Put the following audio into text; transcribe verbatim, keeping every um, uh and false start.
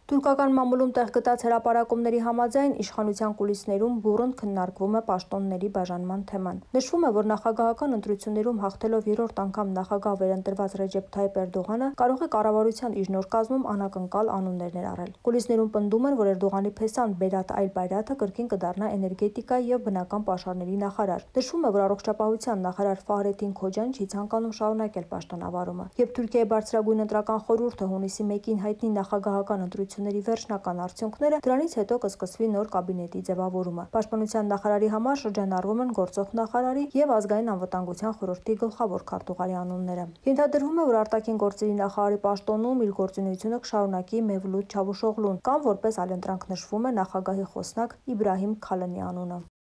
Թուրքական մամուլում տեղ գտած հրապարակումների համաձայն իշխանության կուլիսներում բուռն քննարկվում է պաշտոնների բաժանման թեման։ Նշվում է, որ նախագահական ընտրություններում հաղթելով երրորդ անգամ նախագահ վերընտրված Ռեջեփ Թայիփ Էրդողանը կարող է կառավարության իր նոր կազմում անակնկալ անուններ ներառել։ Կուլիսներում պնդում են, որ Էրդողանի փեսան Բերատ Այլբայրաթը կրկին կդառնա էներգետիկայի եւ բնական պաշարների նախարար։ Նշվում է, որ առողջապահության նախարար Ֆահրեդդին Քոջան չի ցանկանում շարունակել պաշտոնավարումը։ Երբ Թուրքիայի բարձրագույն ընտրական խորհուրդը հունիսի մեկին հայտնի նախագահական ընտրությունների վերջնական արդյունքները, դրանից հետո կսկսվի նոր կաբինետի ձևավորումը։ Պաշտպանության նախարարի համար շրջանառվում են գործող նախարարի եւ ազգային անվտանգության խորհրդի գլխավոր քարտուղարի անունները։ Ենթադրվում է, որ արտաքին գործերի նախարարի պաշտոնում իր գործունեությունը կշարունակի Մեվլութ Չավուշօղլուն կամ որպես այլընտրանք նշվում է նախագահի խոսնակ Իբրահիմ Քալնի անունը։